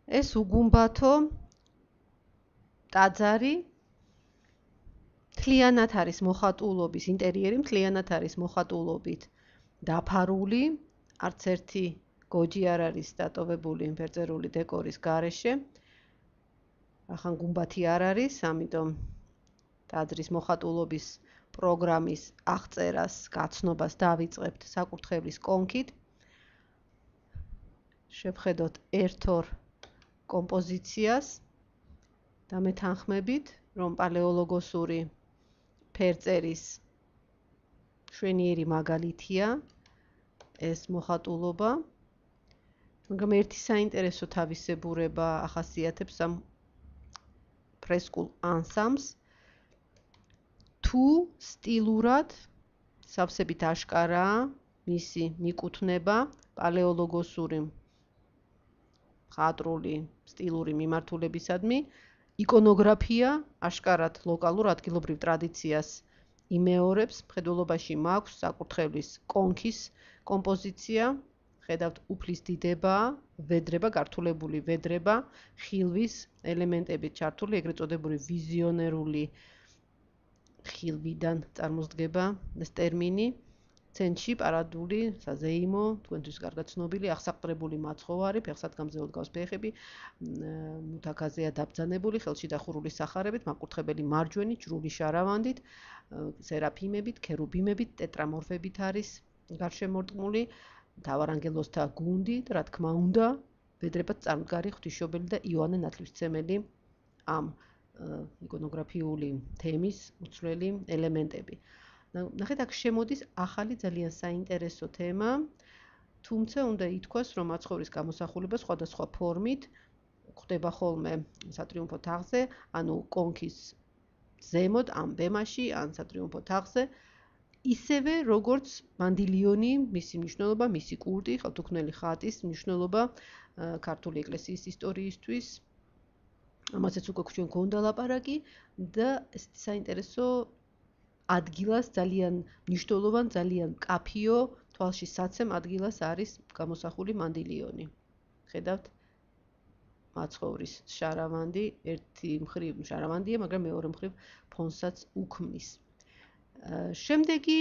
ეს უგუმბათო ტაძარი მთლიანად არის მოხატულობის ინტერიერი, მთლიანად არის მოხატულობით დაფარული, არც ერთი გოჯი არ არის დატოვებული ფერწერული დეკორის გარეშე. ახან გუმბათი არ არის, ამიტომ ტაძრის მოხატულობის პროგრამის აღწერას, გაცნობას დავიწყებთ საკურთხევლის კონქით. შევხედოთ ერთ-ორ კომპოზიციას და მეთანხმებით, რომ პალეოლოგოსური ფერწერის შვენიერი მაგალითია ეს მოხატულობა. მაგრამ ერთი საინტერესო თავისებურება ახასიათებს ამ ფრესკულ ანსამბლს. თუ სტილურად სავსებით აშკარაა მისი მიკუთვნება პალეოლოგოსური მხატვრული სტილური მიმართულებისადმი, იკონოგრაფია აშკარად ლოკალურ ადგილობრივ ტრადიციას იმეორებს. მხედველობაში მაქვს საკურთხევლის კონქის კომპოზიცია, ხედავთ უფლის დიდება, ვედრება, გართულებული ვედრება, ხილვის ელემენტებით ჩართული, ეგრეთ წოდებული ვიზიონერული ხილვიდან წარმოსდგება ეს ტერმინი. ცენტრში პარადული საზეიმო, თქვენთვის კარგად ცნობილი აღსაყდრებული მაცხოვარი, ფეხსადგამზე დგას ფეხები, მუთაქაზეა დაბრძანებული, ხელში დახურული სახარებით, მაკურთხებელი მარჯვენი, ჯვრული შარავანდით, სერაფიმებით, ქერუბიმებით, ტეტრამორფებით არის გარშემორტყმული, მთავარანგელოზთა გუნდით, რა თქმა უნდა, ვედრებად წარმდგარი ღვთისმშობელი და იოანე ნათლისმცემელი ამ იკონოგრაფიული თემის უცვლელი ელემენტები. ნახეთ, აქ შემოდის ახალი ძალიან საინტერესო თემა, თუმცა უნდა ითქვას, რომ მაცხოვრის გამოსახულება სხვადასხვა ფორმით ხდება ხოლმე სატრიუმფო თაღზე, ანუ კონქის ზემოთ, ამ ბემაში, ან სატრიუმფო თაღზე, ისევე როგორც მანდილიონი, მისი მნიშვნელობა, მისი კულტი, ხელთუქმნელი ხატის მნიშვნელობა ქართული ეკლესიის ისტორიისთვის. ამასაც უკვე ჩვენ გქონდა ლაპარაკი და ესეთი საინტერესო ადგილას ძალიან მნიშვნელოვან, ძალიან მკაფიო, თვალში საცემ ადგილას არის გამოსახული მანდილიონი. ხედავთ, მაცხოვრის შარავანდი, ერთი მხრივ შარავანდია, მაგრამ მეორე მხრივ ფონსაც უქმნის. შემდეგი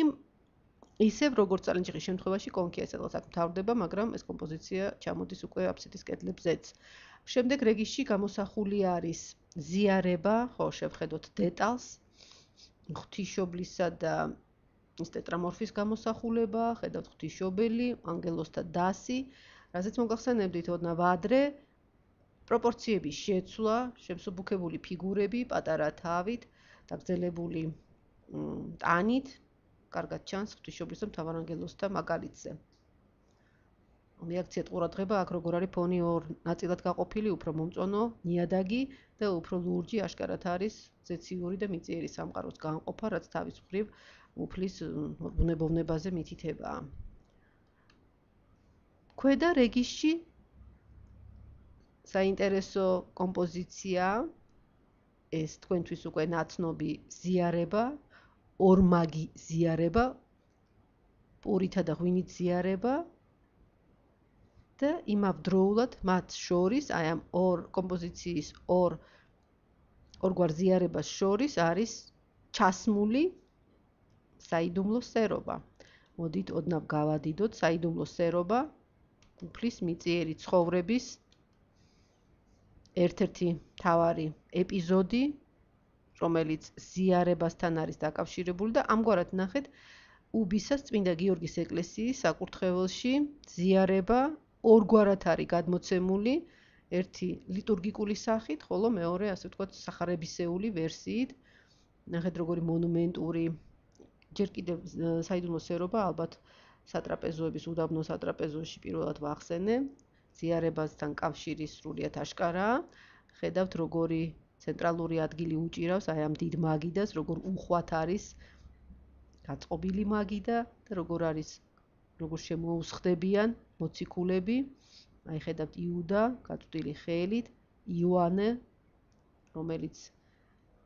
ისევ როგორც წალენჯიხის შემთხვევაში კონქია სადღაც აქ მთავრდება, მაგრამ ეს კომპოზიცია ჩამოდის უკვე აფსიდის კედლებზეც. შემდეგ რეგისში გამოსახული არის ზიარება, ხო, შევხედოთ დეტალს, ღვთისმშობლისა და ის ტეტრამორფის გამოსახულება, ხედავთ ღვთისმშობელი, ანგელოზთა დასი, რასაც მოგახსენებდით, ოდნა ვადრე, პროპორციების შეცვლა, შემსუბუქებული ფიგურები, პატარა თავით, დაგრძელებული ტანით, კარგად ჩანს ღვთისმშობლის და მთავარანგელოზთა მაგალითზე. რეაქციად ყურადღება აქ როგორ არის ფონი ორ ნაწილად გაყოფილი, უფრო მომწონო, ნიადაგი და უფრო ლურჯი აშკარად არის ზეციური და მიწიერი სამყაროს განყოფა, რაც თავის მხრივ უფლის ბუნებოვნებაზე მითითებაა. ქვედა რეგისში საინტერესო კომპოზიცია, ეს თქვენთვის უკვე ნაცნობი ზიარება, ორმაგი ზიარება, პურითა და ღვინით ზიარება და იმავდროულად მათ შორის, აი ამ ორ კომპოზიციის ორგვარ ზიარებას შორის არის ჩასმული საიდუმლო სერობა. მოდით ოდნავ გავადიდოთ საიდუმლო სერობა, უფლის მიწიერი ცხოვრების ერთ-ერთი მთავარი ეპიზოდი, რომელიც ზიარებასთან არის დაკავშირებული და ამგვარად ნახეთ, უბისას წმინდა გიორგის ეკლესიის საკურთხეველში ზიარება ორგვარად არის გადმოცემული, ერთი ლიტურგიკული სახით, ხოლო მეორე, ასე ვთქვათ, სახარებისეული ვერსიით. ნახეთ, როგორი მონუმენტური, ჯერ კიდევ საიდუმლო სერობა, ალბათ სატრაპეზოების უდაბნო სატრაპეზოში პირველად ვახსენე, ზიარებასთან კავშირი სრულიად აშკარაა. ხედავთ, როგორი ცენტრალური ადგილი უჭირავს აი ამ დიდ მაგიდას, როგორ უხვად არის გაწყობილი მაგიდა და როგორ შემოუსხდებიან მოციქულები. აი ხედავთ იუდა, გაწვდილი ხელით, იოანე, რომელიც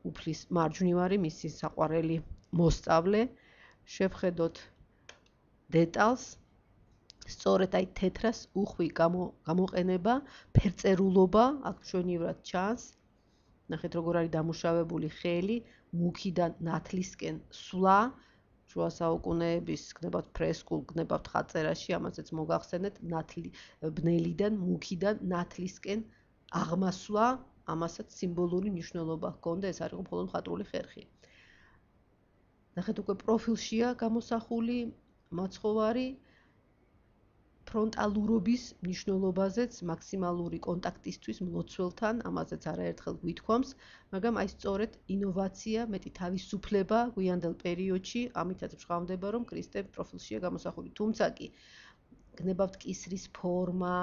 უფლის მარჯვნივარი, მისი საყვარელი მოსწავლე. შევხედოთ დეტალს, სწორედ აი თეთრას უხვი გამოყენება, ფერწერულობა, აქ მშვენივრად ჩანს. ნახეთ როგორ არის დამუშავებული ხელი, მუქიდან ნათლისკენ სვლა, შუა საუკუნეების გნებავთ ფრესკულ, გნებავთ ხაწერაში, ამასაც მოგახსენეთ, ბნელიდან, მუქიდან ნათლისკენ აღმასვლა, ამასაც სიმბოლური მნიშვნელობა ჰქონდა, ეს არ იყო მხოლოდ მხატვრული ხერხი. ნახეთ უკვე პროფილშია გამოსახული მაცხოვარი ფრონტალურობის მნიშვნელობაზეც მაქსიმალური კონტაქტისთვის მლოცველთან, ამაზეც არაერთხელ გვითქვამს, მაგრამ აი სწორედ ინოვაცია, მეტი თავისუფლება გვიანდელ პერიოდში, ამითაც მშრალდება, რომ ქრისტე პროფილშია გამოსახული. თუმცა კი გნებავთ კისრის ფორმა,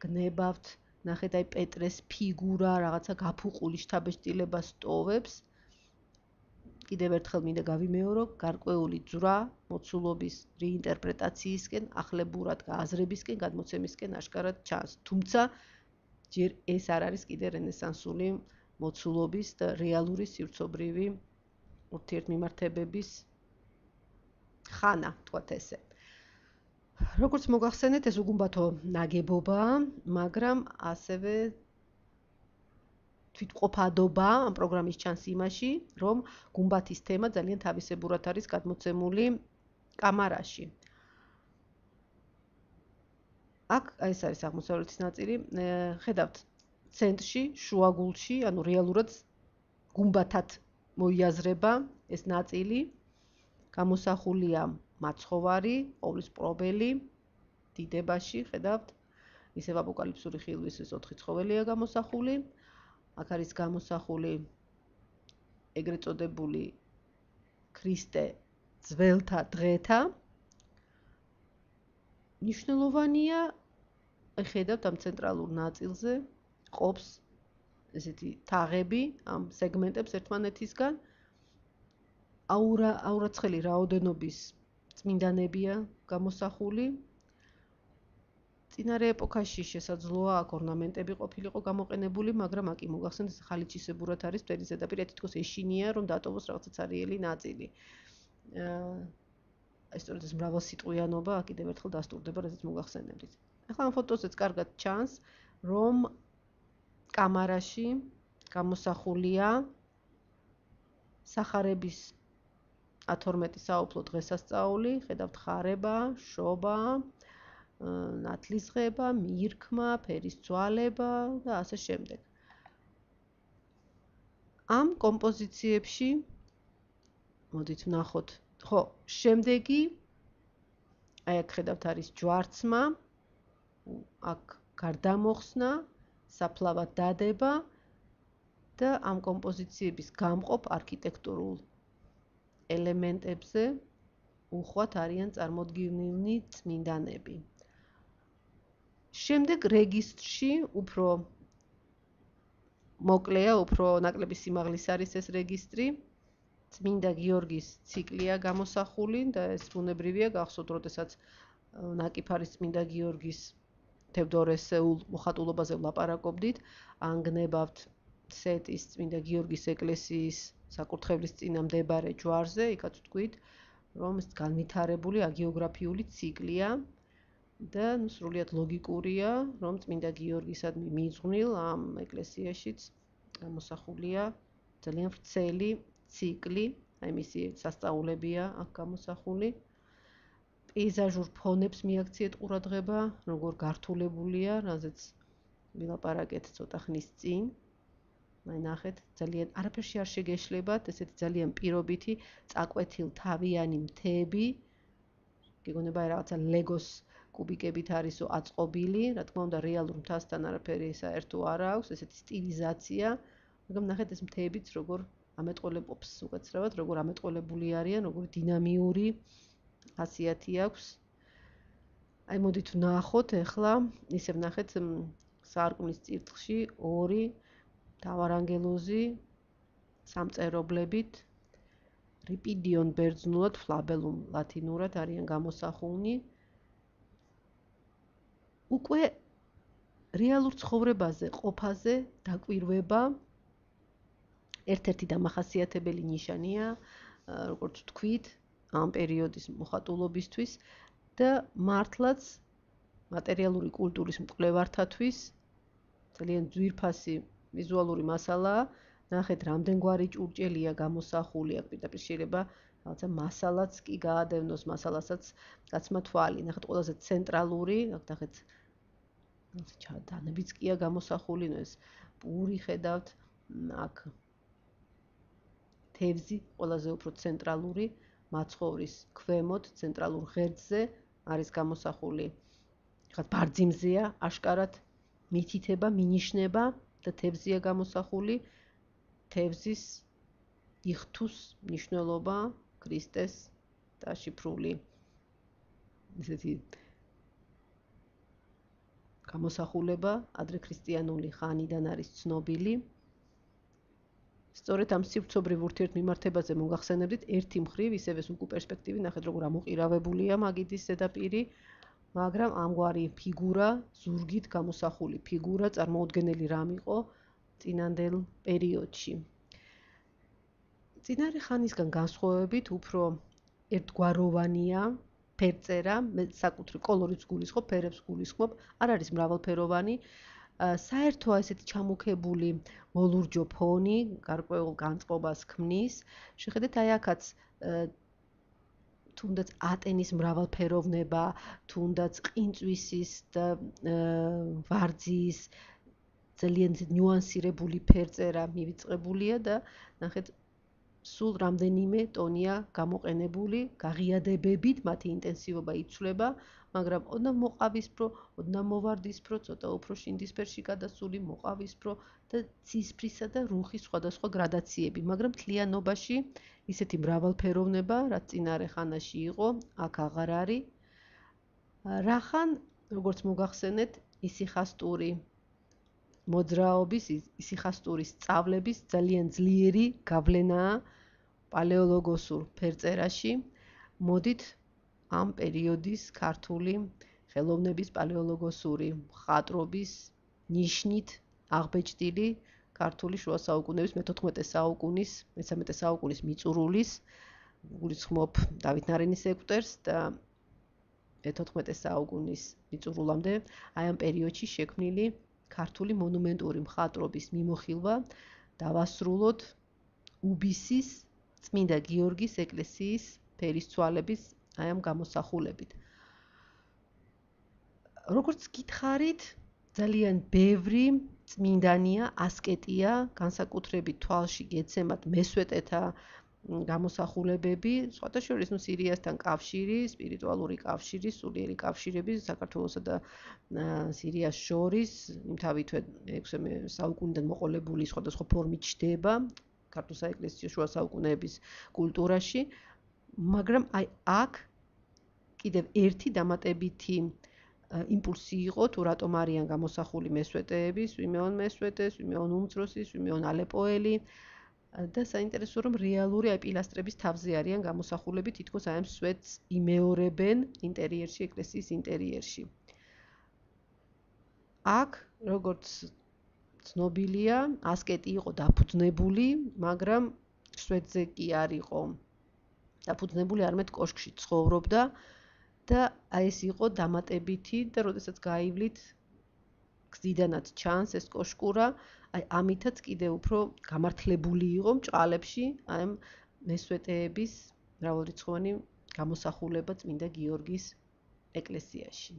გნებავთ, ნახეთ აი პეტრეს ფიგურა, რაღაცა გაფუყული შთაბეჭდილება სტოვებს. კიდევ ერთხელ მინდა გავიმეორო, გარკვეული ძვრა მოცულობის რეინტერპრეტაციისკენ, ახლებურად გააზრებისკენ, გადმოცემისკენ აშკარად ჩანს. თუმცა ჯერ ეს არ არის კიდე რენესანსული მოცულობის და რეალური სივრცობრივი ურთიერთმიმართებების ხანა, თქვათ ესე. როგორც მოგახსენეთ, ეს უგუმბათო ნაგებობაა, მაგრამ ასევე თვითყოფადობა ამ პროგრამის ჩანს იმაში, რომ გუმბათის თემა ძალიან თავისებურად არის გადმოცემული კამარაში. აქ ეს არის აღმოსავლეთის ნაწილი, ხედავთ ცენტრში, შუაგულში, ანუ რეალურად გუმბათად მოიაზრება ეს ნაწილი, გამოსახულია მაცხოვარი, ყოვლისპრობელი, დიდებაში, ხედავთ, ისევ აპოკალიფსური ხილვის ეს 4 ცხოველია გამოსახული. აქ არის გამოსახული ეგრეთ წოდებული ქრისტე ძველთა დღეთა. მნიშვნელოვანია, ხედავთ ამ ცენტრალურ ნაწილზე ყოფს ესეთი თაღები, ამ სეგმენტებს ერთმანეთისგან. აურაცხელი რაოდენობის წმინდანებია გამოსახული. წინარე ეპოქაში შესაძლოა აქ ორნამენტები ყოფილიყო გამოყენებული, მაგრამ აქ მოგახსენეთ ხალიჩისებურად არის მტვერი ზედაპირი, თითქოს ეშინია, რომ დატოვოს რაღაცა ცარიელი ნაწილი. სწორედ ეს მრავალსიტყვიანობა აქ კიდევ ერთხელ დასტურდება, რასაც მოგახსენებდით. ახლა ამ ფოტოზეც კარგად ჩანს, რომ კამარაში გამოსახულია სახარების 12 საუფლო დღესასწაული, ხედავთ ხარება, შობა, ნათლისღება, მირქმა, ფერის ძვალება და ასე შემდეგ. ამ კომპოზიციებში მოდით ვნახოთ, ხო, შემდეგი აი აქ ხედავთ არის ჯვარცმა, აქ გარდამოხსნა, საფლავად დადება და ამ კომპოზიციების გამყოფ არქიტექტურულ ელემენტებზე უხვად არიან წარმოდგენილნი წმინდანები. შემდეგ რეგისტრში უფრო მოკლეა, უფრო ნაკლები სიმაღლის არის ეს რეგისტრი. წმინდა გიორგის ციკლია გამოსახული და ეს ბუნებრივია, გახსოვთ, როდესაც ნაკიფარის წმინდა გიორგის თევდორესეულ მოხატულობაზე ვლაპარაკობდით, ანგნებავთ სეტის წმინდა გიორგის ეკლესიის საკურთხევლის წინა მდებარე ჯვარზე, იქაც ვთქვით, რომ ეს განვითარებული აგეოგრაფიული ციკლია და სრულიად ლოგიკურია, რომ წმინდა გიორგისადმი მიძღვნილ ამ ეკლესიაშიც გამოსახულია ძალიან ვრცელი ციკლი, აი მისი სასწაულებია აქ გამოსახული. პეიზაჟურ ფონებს მიაქციეთ ყურადღება, როგორ გართულებულია, რაზეც ვილაპარაკეთ ცოტა ხნის წინ. აი ნახეთ, ძალიან არაფერში არ შეგეშლებათ, ესეთი ძალიან პირობითი, წაკვეთილ თავიანი მთები. გეგონება რაღაცა ლეგოს კუბიკებით არისო აწყობილი, რა თქმა უნდა, რეალურ მთასთან არაფერი საერთო არ აქვს, ესეთი სტილიზაცია, მაგრამ ნახეთ ეს მთებიც როგორ ამეტყველებობს უკაცრავად, როგორ ამეტყველებული არიან, როგორ დინამიური ხასიათი აქვს. აი მოდით ვნახოთ ახლა, ისევ ნახეთ სარკმლის წირთხლში ორი მთავარანგელოზი სამწერობლებით რიპიდიონ ბერძნულად, ფლაბელუმ ლათინურად არიან გამოსახულნი. უკვე რეალურ ცხოვრებაზე, ყოფაზე დაკვირვება ერთ-ერთი დამახასიათებელი ნიშანია, როგორც ვთქვით, ამ პერიოდის მოხატულობისთვის და მართლაც მატერიალური კულტურის მკვლევართათვის ძალიან ძვირფასი ვიზუალური მასალაა. ნახეთ, რამდენგვარი ჭურჭელია გამოსახული, აქ პირდაპირ შეიძლება რაღაცა მასალაც კი გაადევნოს, მასალასაც გაცმა თვალი. ნახეთ, ყველაზე ცენტრალური, აქ ნახეთ, ჩადანებიც კია გამოსახული, ნუ ეს პური ხედავთ, აქ თევზი ყველაზე უფრო ცენტრალური, მაცხოვრის ქვემოთ, ცენტრალურ ღერძზე არის გამოსახული. ხათ ბარძიმზეა აშკარად მითითება, მინიშნება და თევზია გამოსახული. თევზის იხთუს მნიშვნელობა ქრისტეს დაშიფრული. ესეთი გამოსახულება ადრე ქრისტიანული ხანიდან არის ცნობილი. სწორედ ამ სივრცობრივ ურთიერთმიმართებაზე მოგახსენებდით ერთი მხრივ, ისევე უკუ პერსპექტივი, ნახეთ როგორ ამოყირავებულია მაგიდის ზედაპირი, მაგრამ ამგვარი ფიგურა, ზურგით გამოსახული ფიგურა წარმოუდგენელი რამ იყო წინანდელ პერიოდში. წინარე ხანისგან განსხვავებით უფრო ერთგვაროვანია ფერწერა, საკუთრივ კოლორიტს გულისხმობ, ფერებს გულისხმობ, არ არის მრავალფეროვანი. საერთო ესეთი ჩამოქებული მოლურჯო ფონი გარკვეულ განწყობას ქმნის. შეხედეთ, აი აქაც თუნდაც ატენის მრავალფეროვნება, თუნდაც ყინწვისის და ვარძის ძალიან ნიუანსირებული ფერწერა მივიწყებულია და ნახეთ, სულ რამდენიმე ტონია გამოყენებული, გაღიადებებით მათი ინტენსივობა იცვლება, მაგრამ ოდნავ მოყავისფრო, ოდნავ მოვარდისფრო, ცოტა უფრო შინდისფერში გადასული, მოყავისფრო და ცისფრისა და რუხის სხვადასხვა გრადაციები, მაგრამ მთლიანობაში ისეთი მრავალფეროვნება, რაც წინარე ხანაში იყო, აქ აღარ არის. რახან, როგორც მოგახსენეთ, ისიხასტური მოძრაობის, ისიხასტურის სწავლების ძალიან ძლიერი გავლენაა პალეოლოგოსურ ფერწერაში. მოდით ამ პერიოდის ქართული ხელოვნების პალეოლოგოსური მხატვრობის ნიშნით აღბეჭდილი ქართული შუა საუკუნეების მე-14 საუკუნის, მე-13 საუკუნის მიწურულის, გულისხმობ დავით ნარინის ეკვტერს და მე-14 საუკუნის მიწურულამდე, აი ამ პერიოდში შექმნილი ქართული მონუმენტური მხატვრობის მიმოხილვა დავასრულოთ უბისის წმინდა გიორგის ეკლესიის ფერისცვალების აი ამ გამოსახულებით. როგორც გითხარით, ძალიან ბევრი წმინდანია, ასკეტია, განსაკუთრებით თვალში გეცემათ მესვეტეთა გამოსახულებები, სხვათა შორის სირიასთან კავშირი, სპირიტუალური კავშირი, სულიერი კავშირები საქართველოსა და სირიას შორის, იმთავითვე 6-მე საუკუნიდან მოყოლებული სხვადასხვა ფორმით ჩდება ქართულ საეკლესიო შუა საუკუნეების კულტურაში, მაგრამ აი აქ კიდევ ერთი დამატებითი იმპულსი იყო, თუ რატომ არიან გამოსახული მესვეტეები, სვიმეონ მესვეტე, სვიმეონ უმცროსი, სვიმეონ ალეპოელი და საინტერესოა, რომ რეალური აი პილასტრების თავზე არიან გამოსახულები, თითქოს აი ამ სვეტს იმეორებენ ინტერიერში, ეკლესიის ინტერიერში. აქ, როგორც ცნობილია, ასკეტი იყო დაფუძნებული, მაგრამ სვეტზე კი არ იყო დაფუძნებული, არამედ კოშკში ცხოვრობდა და აი ეს იყო დამატებითი და როდესაც გაივლით გზიდანაც ჩანს ეს კოშკურა, აი ამითაც კიდევ უფრო გამართლებული იყო მჭყალებში აი ამ მესვეტეების მრავალრიცხოვანი გამოსახულება წმინდა გიორგის ეკლესიაში.